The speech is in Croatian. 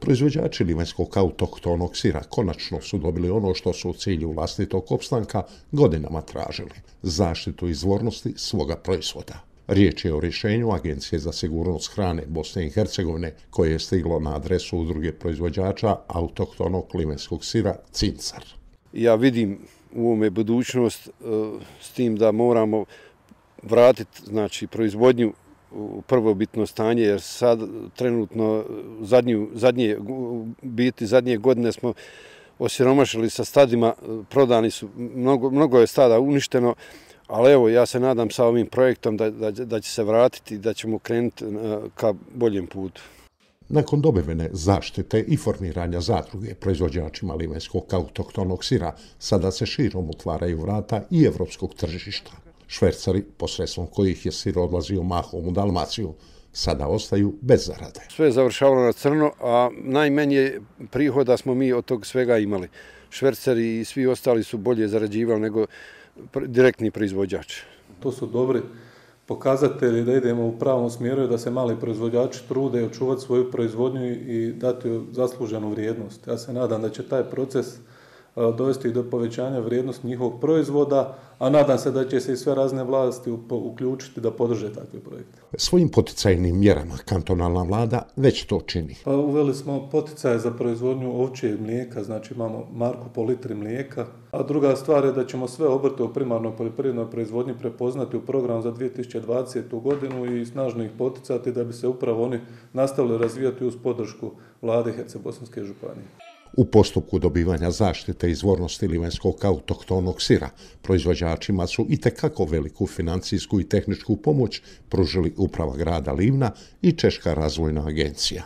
Proizvođači livanjskog autohtonog sira konačno su dobili ono što su u cilju vlastitog opstanka godinama tražili – zaštitu izvornosti svoga proizvoda. Riječ je o rješenju Agencije za sigurnost hrane Bosne i Hercegovine koje je stiglo na adresu udruge proizvođača autohtonog livanjskog sira Cincar. Ja vidim u ovome budućnost s tim da moramo vratiti proizvodnju u prvobitno stanje, jer sad trenutno zadnje godine smo osiromašili sa stadima, prodani su, mnogo je stada uništeno, ali evo ja se nadam sa ovim projektom da će se vratiti i da ćemo krenuti ka boljem putu. Nakon dobivene zaštite i formiranja zadruge proizvođačima livanjskog autohtonog sira, sada se širom otvaraju vrata i evropskog tržišta. Švercari, posredstvom kojih je sir odlazio mahom u Dalmaciju, sada ostaju bez zarade. Sve je završavalo na crno, a najmanje prihoda smo mi od tog svega imali. Švercari i svi ostali su bolje zarađivali nego direktni proizvođač. To su dobri pokazatelji da idemo u pravom smjeru i da se mali proizvođači trude očuvati svoju proizvodnju i dati joj zasluženu vrijednost. Ja se nadam da će taj proces dovesti do povećanja vrijednosti njihovog proizvoda, a nadam se da će se i sve razne vlasti uključiti da podrže takve projekte. Svojim poticajnim mjerama kantonalna vlada već to čini. Uveli smo poticaje za proizvodnju ovčjeg mlijeka, znači imamo marku po litri mlijeka, a druga stvar je da ćemo sve obrte u primarnoj poljoprivrednoj proizvodnji prepoznati u program za 2020. godinu i snažno ih poticati da bi se upravo oni nastavili razvijati uz podršku vlade Herceg-bosanske županije. U postupku dobivanja zaštite izvornosti livanjskog autohtonog sira proizvođačima su itekako veliku financijsku i tehničku pomoć pružili uprava grada Livna i Češka razvojna agencija.